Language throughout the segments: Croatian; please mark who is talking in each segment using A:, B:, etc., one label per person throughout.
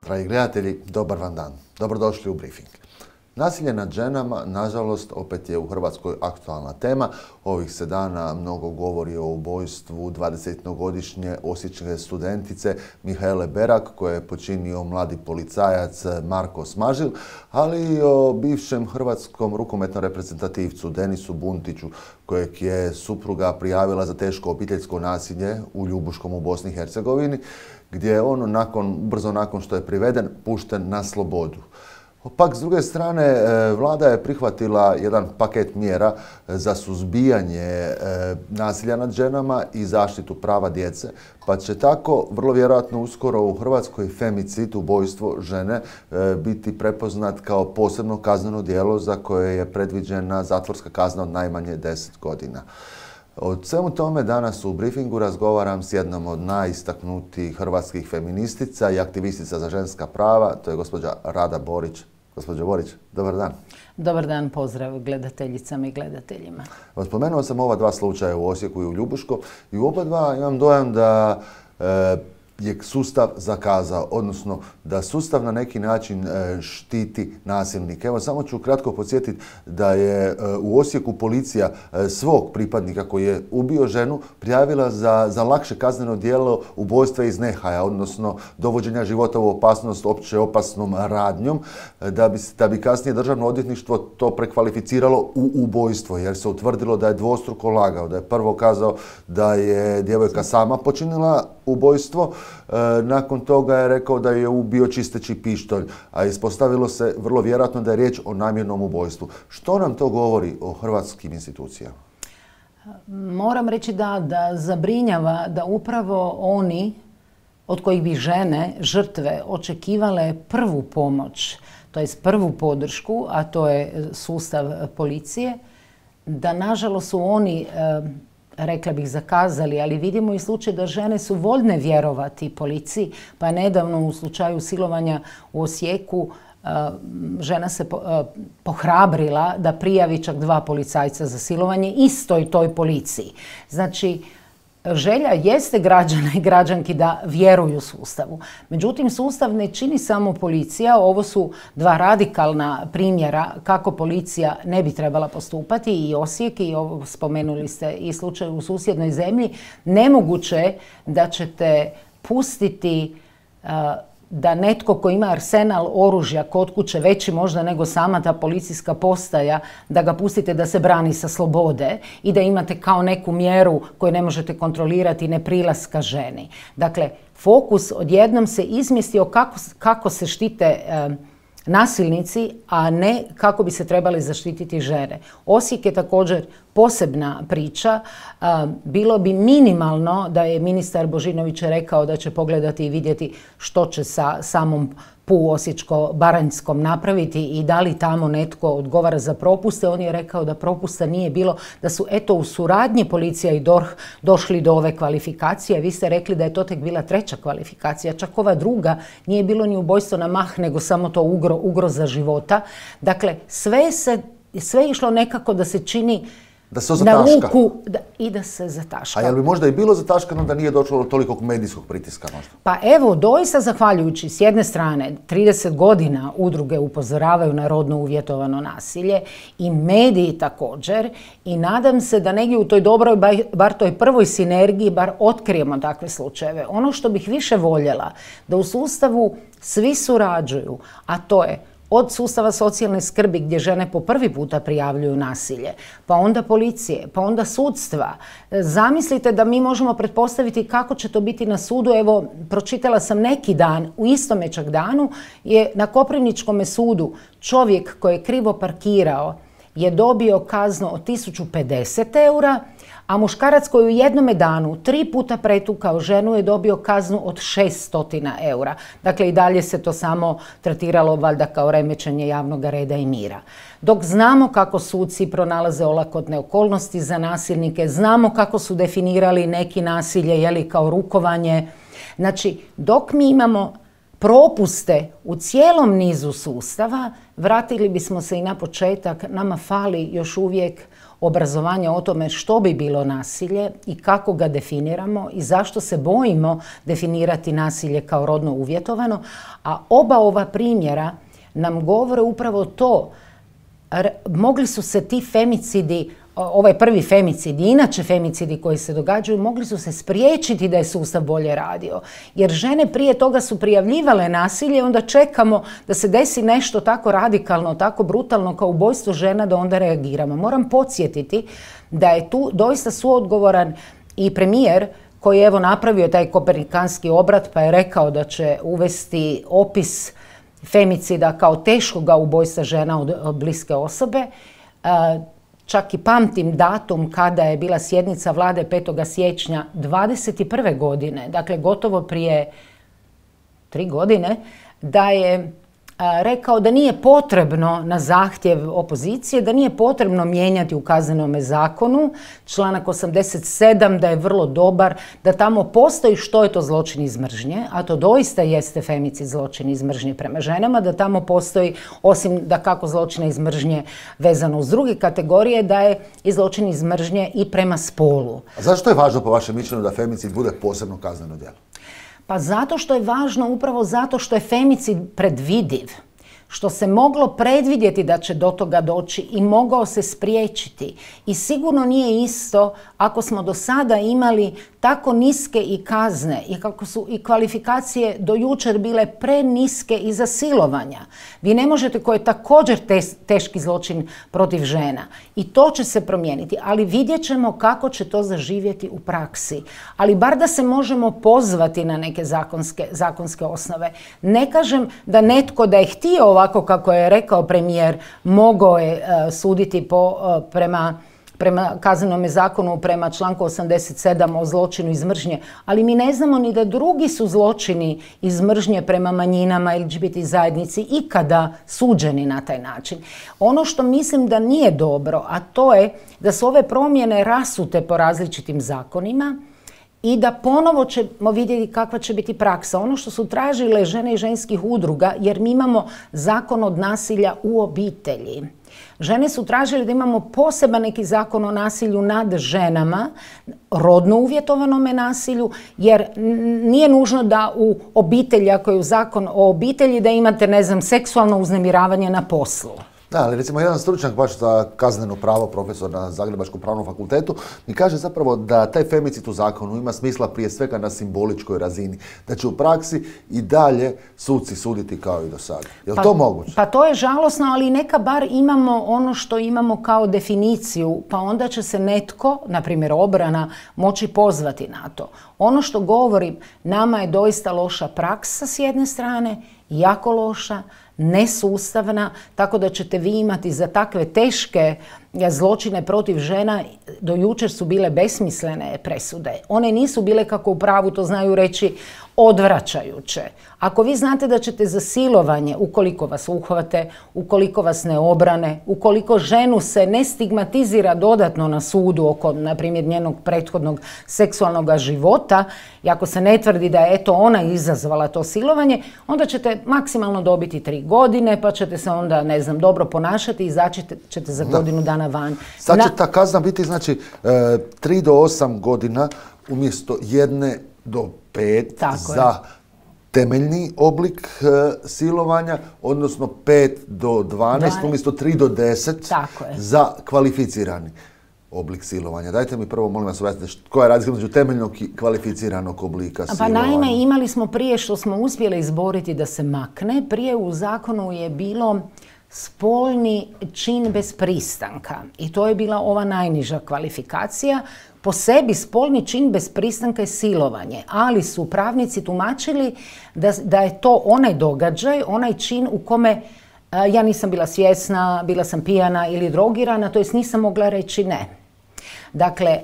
A: Dragi gledatelji, dobar vam dan. Dobrodošli u briefing. Nasilje nad ženama, nažalost, opet je u Hrvatskoj aktualna tema. Ovih se dana mnogo govori o ubojstvu 20-godišnje osječke studentice Mihaele Berak, koje je počinio mladi policajac Marko Smažil, ali i o bivšem hrvatskom rukometnom reprezentativcu Denisu Buntiću, kojeg je supruga prijavila za teško obiteljsko nasilje u Ljubuškom u Bosni i Hercegovini, gdje je on brzo nakon što je priveden pušten na slobodu. Pak, s druge strane, vlada je prihvatila jedan paket mjera za suzbijanje nasilja nad ženama i zaštitu prava djece, pa će tako vrlo vjerojatno uskoro u Hrvatskoj femicid, ubojstvo žene, biti prepoznat kao posebno kazneno djelo za koje je predviđena zatvorska kazna od najmanje 10 godina. O svemu tome danas u briefingu razgovaram s jednom od najistaknutijih hrvatskih feministica i aktivistica za ženska prava, to je gospođa Rada Borić. Gospođo Borić, dobar dan.
B: Dobar dan, pozdrav gledateljicama i gledateljima.
A: Spomenuo sam ova dva slučaja u Osijeku i u Ljubuškom i u oba dva imam dojam da je sustav zakazao, odnosno da sustav na neki način štiti nasilnike. Evo, samo ću kratko podsjetiti da je u Osijeku policija svog pripadnika koji je ubio ženu prijavila za lakše kazneno djelo ubojstva iz nehaja, odnosno dovođenja života u opasnost opće opasnom radnjom, da bi kasnije državno odvjetništvo to prekvalificiralo u ubojstvo, jer se utvrdilo da je dvostruko lagao, da je prvo kazao da je djevojka sama počinila ubojstvo, nakon toga je rekao da je ubio čisteći pištolj, a ispostavilo se vrlo vjerojatno da je riječ o namjernom ubojstvu. Što nam to govori o hrvatskim institucijama?
B: Moram reći da zabrinjava da upravo oni od kojih bi žene, žrtve, očekivale prvu pomoć, to jest prvu podršku, a to je sustav policije, da nažalost su oni, rekla bih, zakazali, ali vidimo i slučaj da žene su voljne vjerovati policiji, pa nedavno u slučaju silovanja u Osijeku žena se pohrabrila da prijavi čak 2 policajca za silovanje istoj toj policiji. Znači, želja jeste građana i građanki da vjeruju sustavu. Međutim, sustav ne čini samo policija. Ovo su 2 radikalna primjera kako policija ne bi trebala postupati, i Osijek, i ovo spomenuli ste i slučaj u susjednoj zemlji. Nemoguće je da ćete pustiti da netko ko ima arsenal oružja kod kuće, veći možda nego sama ta policijska postaja, da ga pustite da se brani sa slobode i da imate kao neku mjeru koju ne možete kontrolirati neprilaska ženi. Dakle, fokus odjednom se izmjestio kako se štite nasilnici, a ne kako bi se trebali zaštititi žene. Osijek je također posebna priča. Bilo bi minimalno da je ministar Božinović rekao da će pogledati i vidjeti što će sa samom PU Osječko-baranjskom napraviti i da li tamo netko odgovara za propuste. On je rekao da propusta nije bilo, da su eto u suradnji policija i DORH došli do ove kvalifikacije. Vi ste rekli da je to tek bila 3. kvalifikacija, čak ova druga nije bilo ni ubojstvo na mah, nego samo to ugroza života. Dakle, sve je išlo nekako da se čini
A: da se na ruku
B: i da se zataška.
A: A je li možda i bilo zataškano da nije došlo do tolikog medijskog pritiska možda?
B: Pa evo, doista zahvaljujući s jedne strane 30 godina udruge upozoravaju na rodno uvjetovano nasilje i mediji također, i nadam se da negdje u toj dobroj, bar toj prvoj sinergiji, bar otkrijemo takve slučajeve. Ono što bih više voljela, da u sustavu svi surađuju, a to je od sustava socijalne skrbi gdje žene po prvi puta prijavljuju nasilje, pa onda policije, pa onda sudstva. Zamislite da mi možemo pretpostaviti kako će to biti na sudu. Evo, pročitala sam neki dan, u istome čak danu je na Koprivničkom sudu čovjek koji je krivo parkirao je dobio kaznu od 1050 eura, a muškarac koji u jednome danu 3 puta pretukao ženu je dobio kaznu od 600 eura. Dakle, i dalje se to samo tretiralo valjda kao remećenje javnog reda i mira. Dok znamo kako suci pronalaze olakotne okolnosti za nasilnike, znamo kako su definirali neki nasilje, jeli, kao rukovanje. Znači, dok mi imamo propuste u cijelom nizu sustava, vratili bismo se i na početak. Nama fali još uvijek obrazovanja o tome što bi bilo nasilje i kako ga definiramo i zašto se bojimo definirati nasilje kao rodno uvjetovano, a oba ova primjera nam govore upravo to. Mogli su se ti femicidi, ovaj prvi femicid i inače femicidi koji se događaju, mogli su se spriječiti da je sustav bolje radio. Jer žene prije toga su prijavljivale nasilje, onda čekamo da se desi nešto tako radikalno, tako brutalno kao ubojstvo žena da onda reagiramo. Moram podsjetiti da je tu doista suodgovoran i premijer koji je evo napravio taj kopernikanski obrat pa je rekao da će uvesti opis femicida kao teškoga ubojstva žena od bliske osobe. Čak i pamtim datum kada je bila sjednica vlade 5. siječnja 2021. godine, dakle gotovo prije 3 godine, da je rekao da nije potrebno na zahtjev opozicije, da nije potrebno mijenjati u Kaznenome zakonu članak 87, da je vrlo dobar, da tamo postoji što je to zločin iz mržnje, a to doista jeste femicid zločin iz mržnje prema ženama, da tamo postoji, osim da kako zločina iz mržnje vezano uz druge kategorije, da je i zločin iz mržnje i prema spolu.
A: A zašto je važno po vašem mišljenju da femicid bude posebno kazneno djelo?
B: Pa zato što je važno, upravo zato što je femicid predvidiv, što se moglo predvidjeti da će do toga doći i mogao se spriječiti. I sigurno nije isto ako smo do sada imali tako niske i kazne i kako su i kvalifikacije do jučer bile preniske i za silovanja. Vi ne možete, koji je također teški zločin protiv žena. I to će se promijeniti, ali vidjet ćemo kako će to zaživjeti u praksi. Ali bar da se možemo pozvati na neke zakonske osnove. Ne kažem da netko da je htio ovako kako je rekao premijer, mogao je suditi prema Kaznenome zakonu, prema članku 87 o zločinu iz mržnje, ali mi ne znamo ni da drugi su zločini iz mržnje prema manjinama ili LGBT zajednici ikada suđeni na taj način. Ono što mislim da nije dobro, a to je da su ove promjene rasute po različitim zakonima i da ponovo ćemo vidjeti kakva će biti praksa. Ono što su tražile žene i ženskih udruga, jer mi imamo zakon od nasilja u obitelji. Žene su tražile da imamo poseban neki zakon o nasilju nad ženama, rodno uvjetovanome nasilju, jer nije nužno da u obitelji, ako je u zakon o obitelji, da imate, ne znam, seksualno uznemiravanje na poslu.
A: Da, ali recimo jedan stručnjak baš za kazneno pravo, profesor na Zagrebačkom pravnom fakultetu, mi kaže zapravo da taj femicid u zakonu ima smisla prije svega na simboličkoj razini. Da će u praksi i dalje suci suditi kao i do sada. Je li to moguće?
B: Pa to je žalosno, ali neka bar imamo ono što imamo kao definiciju, pa onda će se netko, na primjer obrana, moći pozvati na to. Ono što govorim, nama je doista loša praksa s jedne strane, jako loša, nesustavna, tako da ćete vi imati za takve teške zločine protiv žena, do jučer su bile besmislene presude. One nisu bile, kako u pravu to znaju reći, odvraćajuće. Ako vi znate da ćete za silovanje, ukoliko vas uhvate, ukoliko vas ne obrane, ukoliko ženu se ne stigmatizira dodatno na sudu oko, na primjer, njenog prethodnog seksualnog života, i ako se ne tvrdi da je eto ona izazvala to silovanje, onda ćete maksimalno dobiti 3 godine, pa ćete se onda, ne znam, dobro ponašati i izaći ćete za godinu dana van.
A: Sad će ta kazna biti, znači, 3 do 8 godina umjesto 1 do 5 za temeljni oblik silovanja, odnosno 5 do 12 umjesto 3 do 10 za kvalificirani oblik silovanja. Dajte mi prvo, molim vas, objasnite koja je razlika između temeljnog i kvalificiranog oblika silovanja.
B: Pa naime, imali smo prije što smo uspjeli izboriti da se makne, prije u zakonu je bilo spolni čin bez pristanka i to je bila ova najniža kvalifikacija. Po sebi spolni čin bez pristanka je silovanje, ali su pravnici tumačili da je to onaj događaj, onaj čin u kome ja nisam bila svjesna, bila sam pijana ili drogirana, to jest nisam mogla reći ne. Dakle,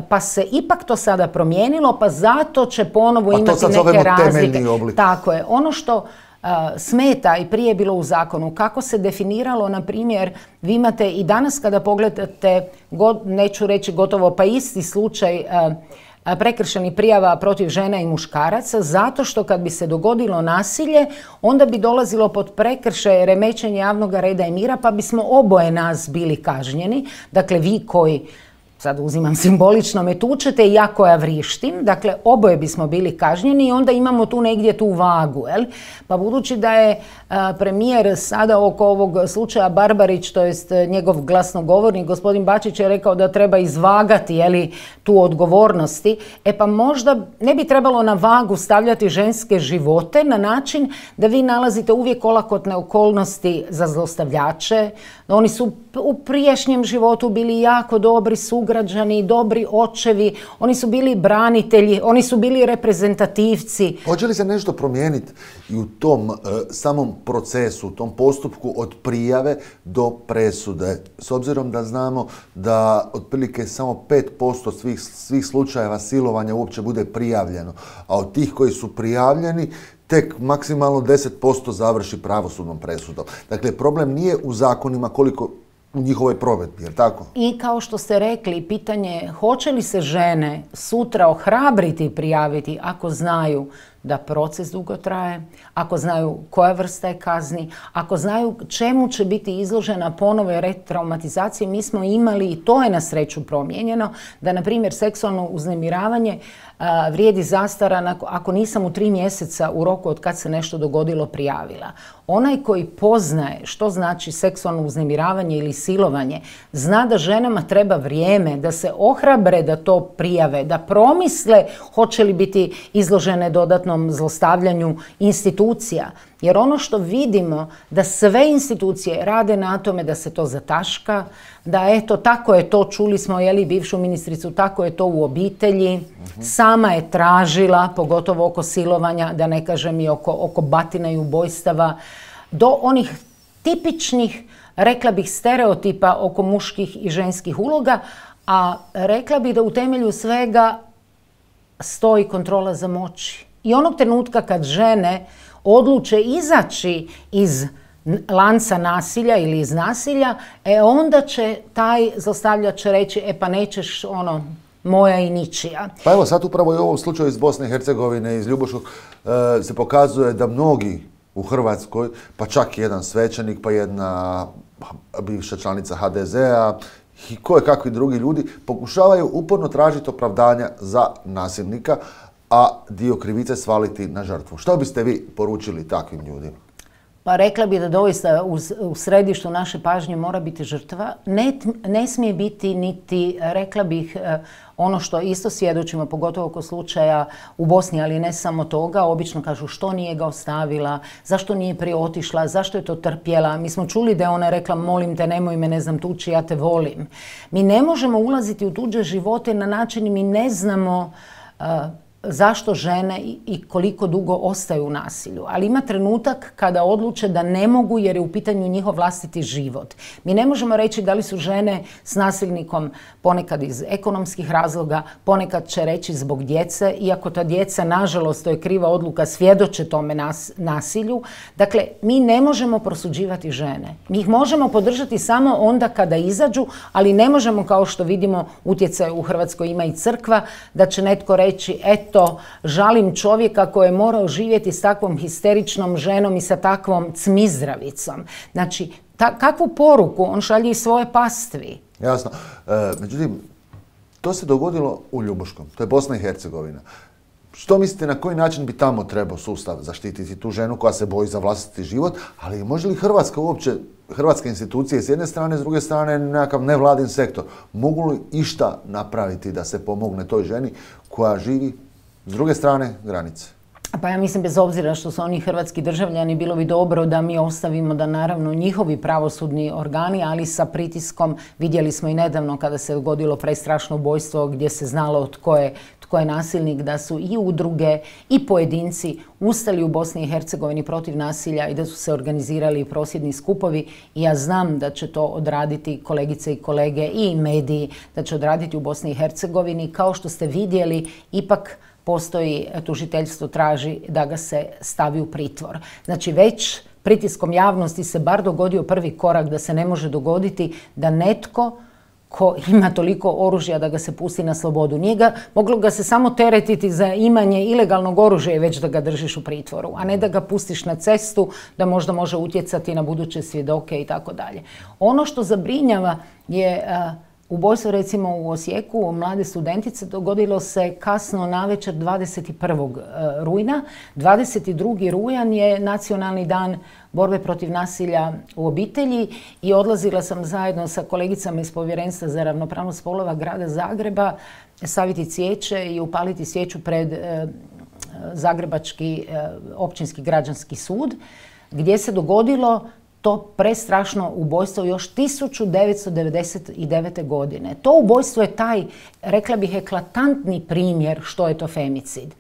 B: pa se ipak to sada promijenilo, pa zato će ponovo imati neke razlike. Tako je. Ono što smeta i prije je bilo u zakonu, kako se definiralo, na primjer, vi imate i danas kada pogledate, neću reći gotovo pa isti slučaj prekršajnih prijava protiv žena i muškaraca, zato što kad bi se dogodilo nasilje, onda bi dolazilo pod prekršaj remećenja javnog reda i mira, pa bismo oboje nas bili kažnjeni. Dakle, vi koji, sad uzimam simbolično, me tučete i ja koja vrištim, dakle oboje bismo bili kažnjeni i onda imamo tu negdje tu vagu. Jel? Pa budući da je premijer sada oko ovog slučaja Barbarić, to jest njegov glasnogovornik, gospodin Bačić je rekao da treba izvagati tu odgovornosti, pa možda ne bi trebalo na vagu stavljati ženske živote na način da vi nalazite uvijek olakotne okolnosti za zlostavljače. Oni su u prijašnjem životu bili jako dobri sugrađani, dobri očevi, oni su bili branitelji, oni su bili reprezentativci.
A: Hoće li se nešto promijeniti i u tom samom procesu, u tom postupku od prijave do presude? S obzirom da znamo da otprilike samo 5% svih slučajeva silovanja uopće bude prijavljeno, a od tih koji su prijavljeni tek maksimalno 10% završi pravosudnom presudom. Dakle, problem nije u zakonima koliko u njihovoj provedbi, jer tako?
B: I kao što ste rekli, pitanje hoće li se žene sutra ohrabriti i prijaviti ako znaju da proces dugo traje, ako znaju koja vrsta je kazni, ako znaju čemu će biti izložena ponovoj retraumatizaciji. Mi smo imali, i to je na sreću promijenjeno, da na primjer seksualno uznemiravanje vrijedi zastara ako nisam u 3 mjeseca u roku od kad se nešto dogodilo prijavila. Onaj koji poznaje što znači seksualno uznemiravanje ili silovanje, zna da ženama treba vrijeme da se ohrabre da to prijave, da promisle hoće li biti izložene dodatnom zlostavljanju institucija. Jer ono što vidimo da sve institucije rade na tome da se to zataška, da eto tako je to, čuli smo bivšu ministricu, tako je to u obitelji, sama je tražila, pogotovo oko silovanja, da ne kažem i oko batina i ubojstava, do onih tipičnih, rekla bih, stereotipa oko muških i ženskih uloga, a rekla bih da u temelju svega stoji kontrola za moći. I onog trenutka kad žene odluče izaći iz lanca nasilja ili iz nasilja, onda će taj zlostavljač reći, pa nećeš moja i ničija.
A: Pa evo sad upravo i u ovom slučaju iz Bosne i Hercegovine, iz Ljubuškog, se pokazuje da mnogi u Hrvatskoj, pa čak i jedan svećenik, pa jedna bivša članica HDZ-a i kakvi drugi ljudi, pokušavaju uporno tražiti opravdanja za nasilnika, a dio krivice svaliti na žrtvu. Što biste vi poručili takvim ljudima?
B: Pa rekla bi da doista u središtu naše pažnje mora biti žrtva. Ne smije biti niti, rekla bih, ono što isto svjedočimo, pogotovo oko slučaja u Bosni, ali ne samo toga. Obično kažu što nije ga ostavila, zašto nije prije otišla, zašto je to trpjela. Mi smo čuli da je ona rekla, molim te, nemoj me, ne znam, tući, ja te volim. Mi ne možemo ulaziti u tuđe živote na način, mi ne znamo zašto žene i koliko dugo ostaju u nasilju. Ali ima trenutak kada odluče da ne mogu jer je u pitanju njihov vlastiti život. Mi ne možemo reći da li su žene s nasilnikom ponekad iz ekonomskih razloga, ponekad će reći zbog djece, iako ta djeca, nažalost, to je kriva odluka, svjedoče tome nasilju. Dakle, mi ne možemo prosuđivati žene. Mi ih možemo podržati samo onda kada izađu, ali ne možemo, kao što vidimo, utjecaj u Hrvatskoj ima i crkva, da će netko reći, eto, žalim čovjeka koji je morao živjeti s takvom histeričnom ženom i sa takvom cmizdravicom. Znači, kakvu poruku on šalje i svoje pastvi?
A: Jasno. Međutim, to se dogodilo u Ljubuškom. To je Bosna i Hercegovina. Što mislite, na koji način bi tamo trebao sustav zaštititi tu ženu koja se boji za vlastiti život, ali može li Hrvatska uopće, hrvatske institucije s jedne strane, s druge strane nekakav nevladin sektor, mogu li išta napraviti da se pomogne toj ženi koja živi s druge strane granice?
B: Pa ja mislim, bez obzira što su oni hrvatski državljani, bilo bi dobro da mi ostavimo da naravno njihovi pravosudni organi, ali sa pritiskom, vidjeli smo i nedavno kada se dogodilo prestrašno ubojstvo gdje se znalo tko je nasilnik, da su i udruge i pojedinci ustali u Bosni i Hercegovini protiv nasilja i da su se organizirali prosvjedni skupovi. I ja znam da će to odraditi kolegice i kolege i mediji, da će odraditi u Bosni i Hercegovini. Kao što ste vidjeli, ipak postoji, tužiteljstvo traži da ga se stavi u pritvor. Znači, već pritiskom javnosti se bar dogodio prvi korak da se ne može dogoditi da netko ko ima toliko oružja da ga se pusti na slobodu. Moglo ga se samo teretiti za imanje ilegalnog oružja i već da ga držiš u pritvoru, a ne da ga pustiš na cestu da možda može utjecati na buduće svjedoke i tako dalje. Ono što zabrinjava je ubojstvo recimo u Osijeku mlade studentice dogodilo se kasno navečer 21. rujna. 22. rujan je nacionalni dan borbe protiv nasilja u obitelji i odlazila sam zajedno sa kolegicama iz Povjerenstva za ravnopravnost spolova grada Zagreba staviti cvijeće i upaliti svijeću pred Zagrebački općinski građanski sud, gdje se dogodilo to prestrašno ubojstvo još 1999. godine. To ubojstvo je taj, rekla bih, eklatantni primjer što je to femicid.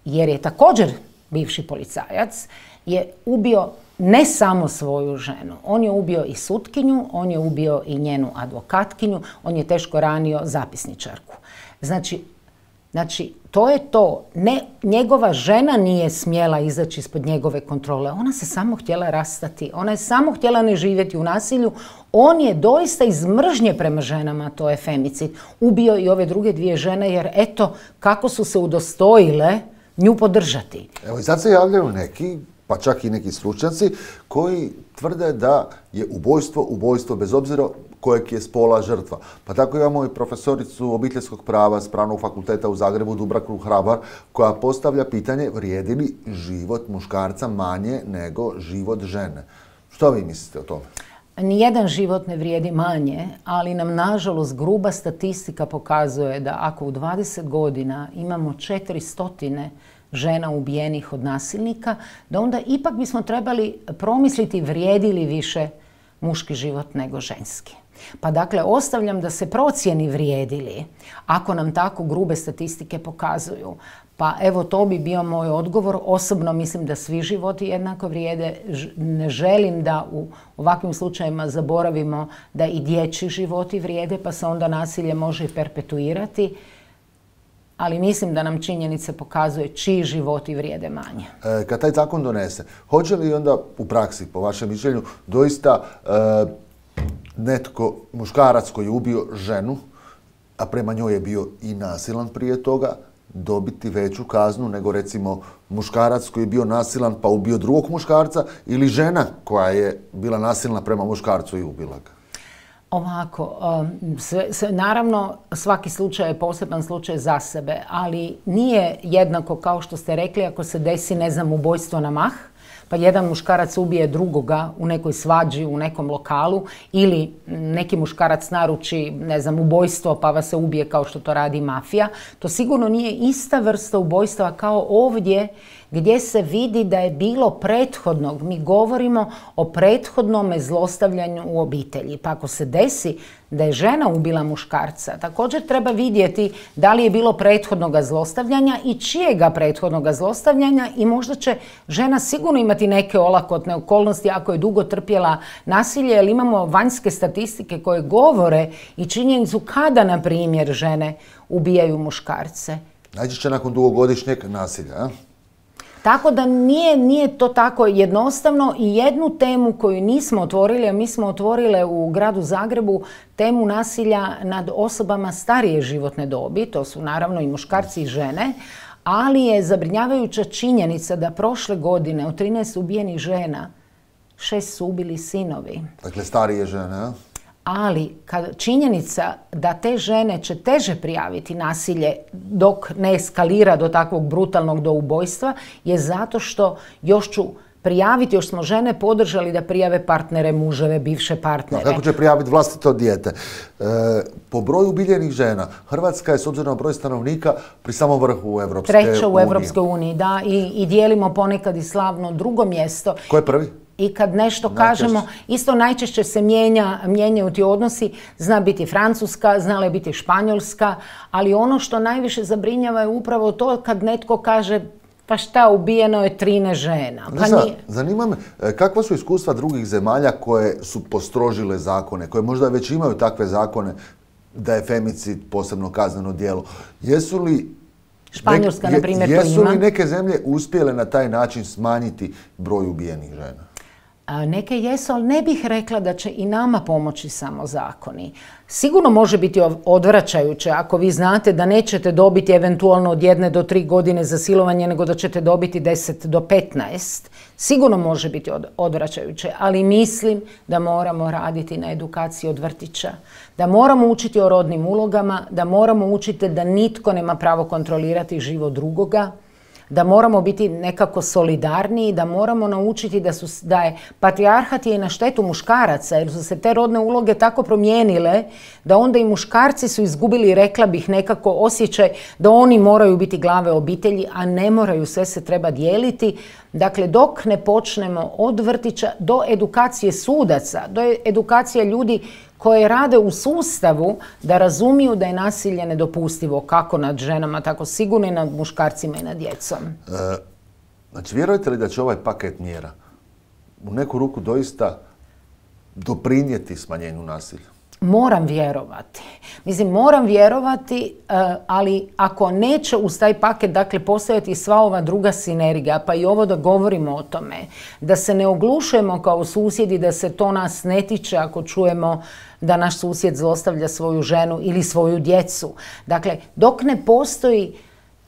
B: Jer je također bivši policajac je ubio ne samo svoju ženu. On je ubio i sutkinju, on je ubio i njenu advokatkinju, on je teško ranio zapisničarku. Znači, to je to. Njegova žena nije smjela izaći ispod njegove kontrole. Ona se samo htjela rastati. Ona je samo htjela ne živjeti u nasilju. On je doista iz mržnje prema ženama, to je femicid, ubio i ove druge dvije žene jer eto kako su se udostojile nju podržati.
A: Evo i sad se javljaju neki, pa čak i neki stručnjaci koji tvrde da je ubojstvo bez obzira kojeg je spola žrtva. Pa tako imamo i profesoricu obiteljskog prava s Pravnog fakulteta u Zagrebu, Dubravku Hrabar, koja postavlja pitanje vrijedi li život muškarca manje nego život žene. Što vi mislite o tome?
B: Nijedan život ne vrijedi manje, ali nam nažalost gruba statistika pokazuje da ako u 20 godina imamo 400 žena ubijenih od nasilnika, da onda ipak bismo trebali promisliti vrijedi li više muški život nego ženski. Pa dakle, ostavljam da se procijeni vrijedi li, ako nam tako grube statistike pokazuju. Pa evo, to bi bio moj odgovor. Osobno mislim da svi životi jednako vrijede. Ne želim da u ovakvim slučajevima zaboravimo da i dječji životi vrijede, pa se onda nasilje može i perpetuirati. Ali mislim da nam činjenice pokazuje čiji životi vrijede manje.
A: Kad taj zakon donese, hoće li onda u praksi, po vašem mišljenju, doista netko, muškarac koji je ubio ženu, a prema njoj je bio i nasilan prije toga, dobiti veću kaznu nego recimo muškarac koji je bio nasilan pa ubio drugog muškarca ili žena koja je bila nasilna prema muškarcu i ubila ga?
B: Ovako, naravno svaki slučaj je poseban slučaj za sebe, ali nije jednako kao što ste rekli ako se desi, ne znam, ubojstvo na mah, pa jedan muškarac ubije drugoga u nekoj svađi, u nekom lokalu, ili neki muškarac naruči, ne znam, ubojstvo pa vas se ubije kao što to radi mafija. To sigurno nije ista vrsta ubojstva kao ovdje gdje se vidi da je bilo prethodnog. Mi govorimo o prethodnome zlostavljanju u obitelji. Pa ako se desi da je žena ubila muškarca, također treba vidjeti da li je bilo prethodnoga zlostavljanja i čijega prethodnoga zlostavljanja i možda će žena sigurno imati neke olakotne okolnosti ako je dugo trpjela nasilje, jer imamo vanjske statistike koje govore i činjenicu kada, na primjer, žene ubijaju muškarce.
A: Najčešće nakon dugogodišnjeg nasilja, a?
B: Tako da nije to tako jednostavno i jednu temu koju nismo otvorili, a mi smo otvorile u gradu Zagrebu temu nasilja nad osobama starije životne dobi, to su naravno i muškarci i žene, ali je zabrinjavajuća činjenica da prošle godine od 13 ubijenih žena 6 su ubili sinovi.
A: Dakle, starije žene, a?
B: Ali činjenica da te žene će teže prijaviti nasilje dok ne eskalira do takvog brutalnog do ubojstva je zato što još ću prijaviti, još smo žene podržali da prijave partnere, muževe, bivše partnere.
A: Kako će prijaviti vlastito dijete? Po broju ubiljenih žena, Hrvatska je s obzirom na broj stanovnika pri samom vrhu u Europske unije.
B: Treća u Europskoj uniji, da, i dijelimo ponekad i slavno drugo mjesto.
A: Ko je prvi?
B: I kad nešto kažemo, isto najčešće se mijenjaju ti odnosi, zna biti Francuska, znala je biti Španjolska, ali ono što najviše zabrinjava je upravo to kad netko kaže pa šta, ubijeno je 13 žena.
A: Zanima me, kakva su iskustva drugih zemalja koje su postrožile zakone, koje možda već imaju takve zakone da je femicid posebno kazneno djelo? Jesu li
B: Španjolska, na primjer, to ima.
A: Jesu li neke zemlje uspjele na taj način smanjiti broj ubijenih žena?
B: Neke jesu, ali ne bih rekla da će i nama pomoći samo zakoni. Sigurno može biti odvraćajuće ako vi znate da nećete dobiti eventualno od 1 do 3 godine za silovanje, nego da ćete dobiti 10 do 15. Sigurno može biti odvraćajuće, ali mislim da moramo raditi na edukaciji od vrtića. Da moramo učiti o rodnim ulogama, da moramo učiti da nitko nema pravo kontrolirati život drugoga, da moramo biti nekako solidarniji, da moramo naučiti da je patrijarhat je i na štetu muškaraca, jer su se te rodne uloge tako promijenile da onda i muškarci su izgubili, rekla bih, nekako osjećaj da oni moraju biti glave obitelji, a ne moraju, sve se treba dijeliti. Dakle, dok ne počnemo od vrtića do edukacije sudaca, do edukacije ljudi koje rade u sustavu, da razumiju da je nasilje nedopustivo kako nad ženama, tako sigurno i nad muškarcima i nad djecom.
A: Znači, vjerujete li da će ovaj paket mjera u neku ruku doista doprinijeti smanjenju nasilja?
B: Moram vjerovati. Moram vjerovati, ali ako neće uz taj paket, dakle, postojati sva ova druga sinergija, pa i ovo da govorimo o tome, da se ne oglušujemo kao susjedi, da se to nas ne tiče ako čujemo da naš susjed zlostavlja svoju ženu ili svoju djecu. Dakle, dok ne postoji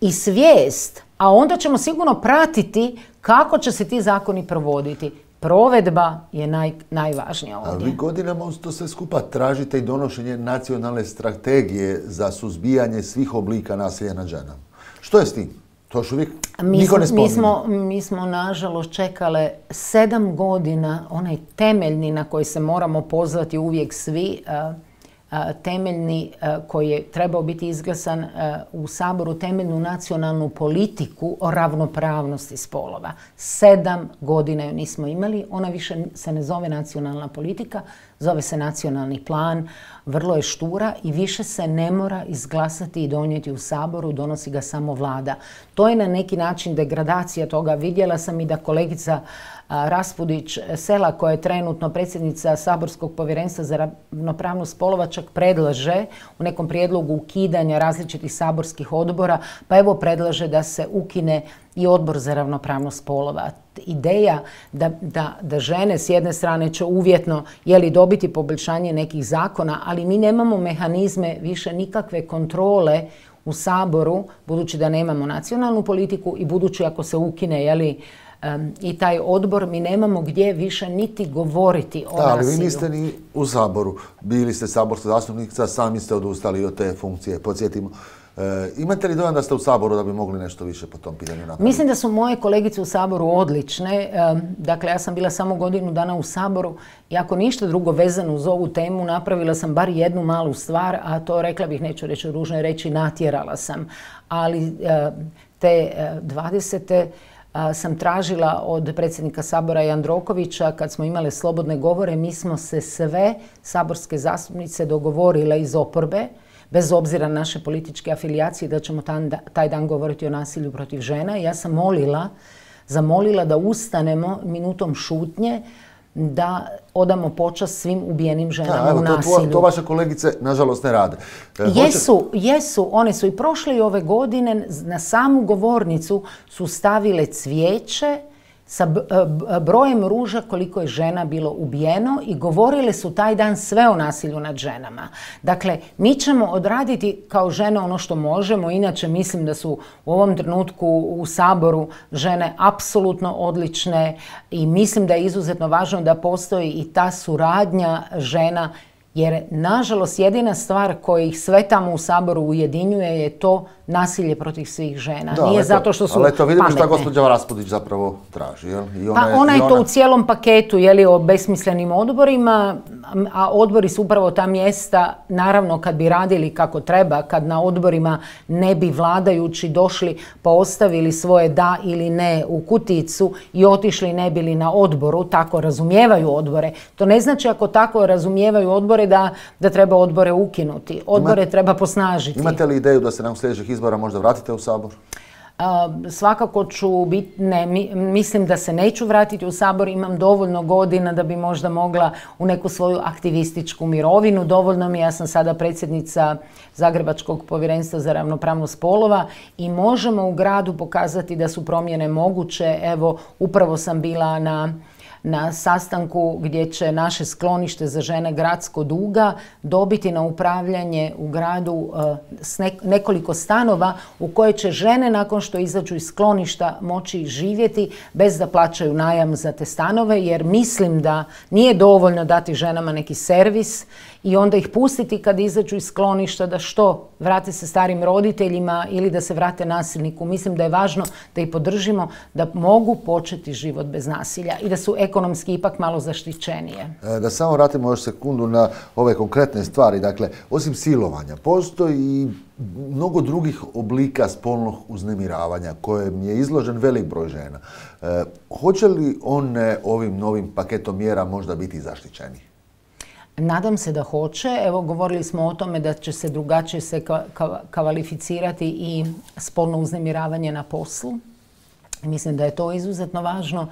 B: i svijest, a onda ćemo sigurno pratiti kako će se ti zakoni provoditi. Provedba je najvažnija ovdje.
A: Ali vi godinama uz to sve skupa tražite i donošenje nacionalne strategije za suzbijanje svih oblika nasilja nad ženama. Što je s tim? To još uvijek niko ne spominje.
B: Mi smo nažalost čekale 7 godina, onaj temeljni na koji se moramo pozvati uvijek svi, temeljni koji je trebao biti izglasan u Saboru, temeljnu nacionalnu politiku o ravnopravnosti spolova. 7 godina ju nismo imali, ona više se ne zove nacionalna politika, zove se nacionalni plan, vrlo je štura i više se ne mora izglasati i donijeti u Saboru, donosi ga samo vlada. To je na neki način degradacija toga. Vidjela sam i da kolegica Raspudić Sela, koja je trenutno predsjednica Saborskog povjerenstva za ravnopravnost spolova, čak predlaže u nekom prijedlogu ukidanja različitih saborskih odbora, pa evo predlaže da se ukine i odbor za ravnopravnost spolova. Ideja da žene s jedne strane će uvjetno dobiti poboljšanje nekih zakona, ali mi nemamo mehanizme više nikakve kontrole u Saboru, budući da nemamo nacionalnu politiku i budući ako se ukine i taj odbor, mi nemamo gdje više niti govoriti o nasilju.
A: Ali vi niste ni u Saboru. Bili ste saborska zastupnica, sami ste odustali od te funkcije, podsjetimo. Imate li dojam da ste u Saboru da bi mogli nešto više po tom pitanju napraviti?
B: Mislim da su moje kolegice u Saboru odlične. Dakle, ja sam bila samo godinu dana u Saboru i ako ništa drugo vezano uz ovu temu, napravila sam bar jednu malu stvar, a to, rekla bih, neću reći ružno reći, natjerala sam. Ali te 20. sam tražila od predsjednika Sabora Jandrokovića, kad smo imale slobodne govore, mi smo se sve saborske zastupnice dogovorile iz oporbe, bez obzira na naše političke afilijacije, da ćemo taj dan govoriti o nasilju protiv žena. Ja sam zamolila da ustanemo minutom šutnje, da odamo počast svim ubijenim ženama u nasilju.
A: To vaše kolegice, nažalost, ne rade.
B: Jesu. One su i prošle i ove godine na samu govornicu su stavile cvijeće sa brojem ruža koliko je žena bilo ubijeno i govorile su taj dan sve o nasilju nad ženama. Dakle, mi ćemo odraditi kao žene ono što možemo, inače mislim da su u ovom trenutku u Saboru žene apsolutno odlične i mislim da je izuzetno važno da postoji i ta suradnja žena, jer nažalost jedina stvar koja ih sve tamo u Saboru ujedinjuje je to nasilje protiv svih žena. Nije zato što su pametne.
A: Ali vidimo šta gospođa Raspudić zapravo traži.
B: Ona je to u cijelom paketu, o besmislenim odborima, a odbori su upravo ta mjesta, naravno kad bi radili kako treba, kad na odborima ne bi vladajući došli pa ostavili svoje da ili ne u kuticu i otišli ne bili na odboru, tako razumijevaju odbore. To ne znači ako tako razumijevaju odbore da treba odbore ukinuti. Odbore treba posnažiti.
A: Imate li ideju da se nakon sljedećih izbora možda vratite u Sabor?
B: Svakako ću biti, mislim da se neću vratiti u Sabor, imam dovoljno godina da bi možda mogla u neku svoju aktivističku mirovinu. Dovoljno mi, ja sam sada predsjednica Zagrebačkog povjerenstva za ravnopravnost spolova i možemo u gradu pokazati da su promjene moguće. Evo, upravo sam bila na na sastanku gdje će naše sklonište za žene Gradsko Duga dobiti na upravljanje u gradu s nekoliko stanova u koje će žene nakon što izađu iz skloništa moći živjeti bez da plaćaju najam za te stanove, jer mislim da nije dovoljno dati ženama neki servis i onda ih pustiti kad izađu iz skloništa da što, vrate se starim roditeljima ili da se vrate nasilniku. Mislim da je važno da ih podržimo da mogu početi život bez nasilja i da su ekonomski ipak malo zaštićenije.
A: Da samo vratimo još sekundu na ove konkretne stvari. Dakle, osim silovanja, postoji i mnogo drugih oblika spolnog uznemiravanja kojem je izložen velik broj žena. Hoće li one ovim novim paketom mjera možda biti zaštićeni?
B: Nadam se da hoće. Evo, govorili smo o tome da će se drugačije kvalificirati i spolno uznemiravanje na poslu. Mislim da je to izuzetno važno.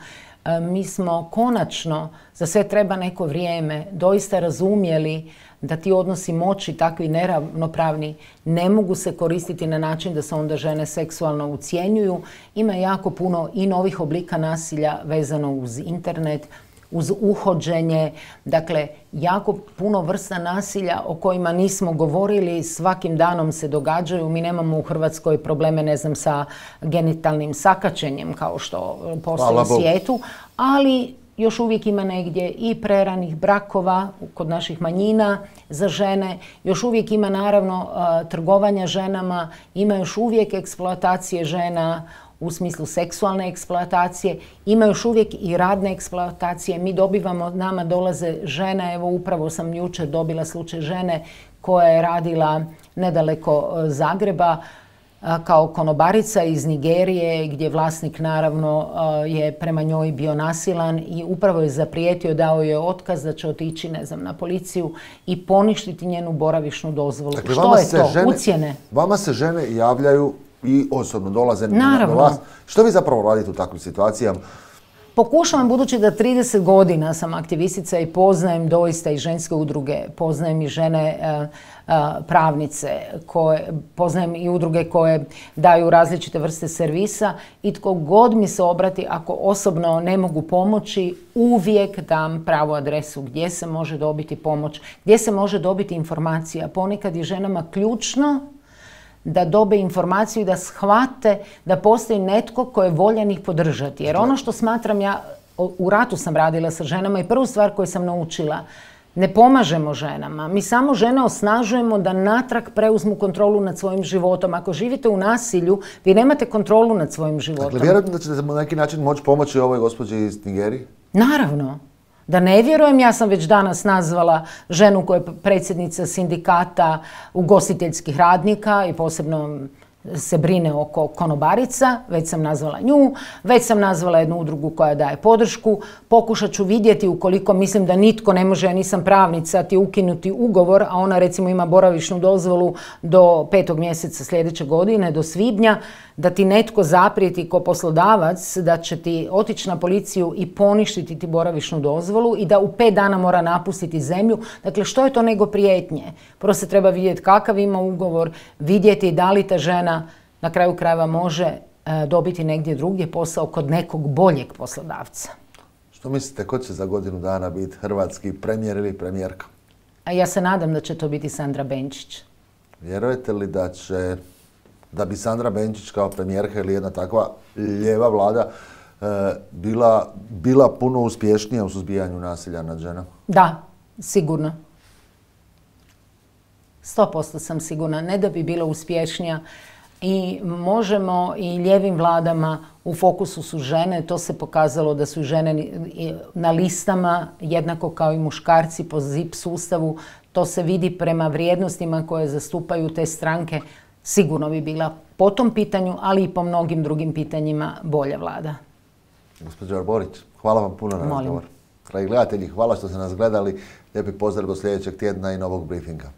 B: Mi smo konačno, za sve treba neko vrijeme, doista razumjeli da ti odnosi moći, takvi neravnopravni, ne mogu se koristiti na način da se onda žene seksualno ucjenjuju. Ima jako puno i novih oblika nasilja vezano uz internet, uz uhođenje, dakle jako puno vrsta nasilja o kojima nismo govorili, svakim danom se događaju. Mi nemamo u Hrvatskoj probleme, ne znam, sa genitalnim sakaćenjem kao što postoji u svijetu, ali još uvijek ima negdje i preranih brakova kod naših manjina za žene, još uvijek ima naravno trgovanja ženama, ima još uvijek eksploatacije žena u smislu seksualne eksploatacije, ima još uvijek i radne eksploatacije. Mi dobivamo, nama dolaze žene, evo upravo sam jučer dobila slučaj žene koja je radila nedaleko Zagreba kao konobarica iz Nigerije, gdje vlasnik naravno je prema njoj bio nasilan i upravo je zaprijetio, dao je otkaz da će otići, ne znam, na policiju i poništiti njenu boravišnu dozvolu.
A: Dakle,
B: što je to? Ucjene?
A: Vama se žene javljaju i osobno dolaze
B: na
A: vas. Što vi zapravo radite u takvim situacijama?
B: Pokušavam, budući da 30 godina sam aktivistica i poznajem doista i ženske udruge, poznajem i žene pravnice, poznajem i udruge koje daju različite vrste servisa i tko god mi se obrati, ako osobno ne mogu pomoći, uvijek dam pravu adresu gdje se može dobiti pomoć, gdje se može dobiti informacija. Ponekad je ženama ključno da dobe informaciju i da shvate da postoji netko ko je voljan ih podržati. Jer ono što smatram, ja u ratu sam radila sa ženama i prvu stvar koju sam naučila, ne pomažemo ženama. Mi samo žene osnažujemo da natrag preuzmu kontrolu nad svojim životom. Ako živite u nasilju, vi nemate kontrolu nad svojim životom.
A: Dakle, vjerojatno da ćete na neki način moći pomoći ovoj gospođi iz Nigerije?
B: Naravno. Da ne vjerujem, ja sam već danas nazvala ženu koja je predsjednica sindikata ugostiteljskih radnika i posebno se brine oko konobarica, već sam nazvala nju, već sam nazvala jednu udrugu koja daje podršku. Pokušat ću vidjeti, ukoliko mislim da nitko ne može, ja nisam pravnica, ti ukinuti ugovor, a ona recimo ima boravišnu dozvolu do 5. mjeseca sljedeće godine, do svibnja, da ti netko zaprijeti ko poslodavac da će ti otići na policiju i poništiti ti boravišnu dozvolu i da u 5 dana mora napustiti zemlju. Dakle, što je to nego prijetnje? Prvo se treba vidjeti kakav ima ugovor, vidjeti da li ta žena na kraju krajeva može dobiti negdje drugdje posao kod nekog boljeg poslodavca.
A: Što mislite, ko će za godinu dana biti hrvatski premijer ili premijerka?
B: A ja se nadam da će to biti Sandra Benčić.
A: Vjerujete li da bi Sandra Benčić kao premijerka ili jedna takva lijeva vlada bila puno uspješnija u suzbijanju nasilja nad ženama?
B: Da, sigurno. 100% sam sigurna. Ne da bi bila uspješnija. I možemo i lijevim vladama, u fokusu su žene, to se pokazalo da su žene na listama jednako kao i muškarci po ZIP sustavu, to se vidi prema vrijednostima koje zastupaju te stranke, sigurno bi bila po tom pitanju, ali i po mnogim drugim pitanjima bolja vlada.
A: Gospođo Arborić, hvala vam puno na razgovor. Dragi gledatelji, hvala što ste nas gledali. Lijepi pozdrav do sljedećeg tjedna i novog briefinga.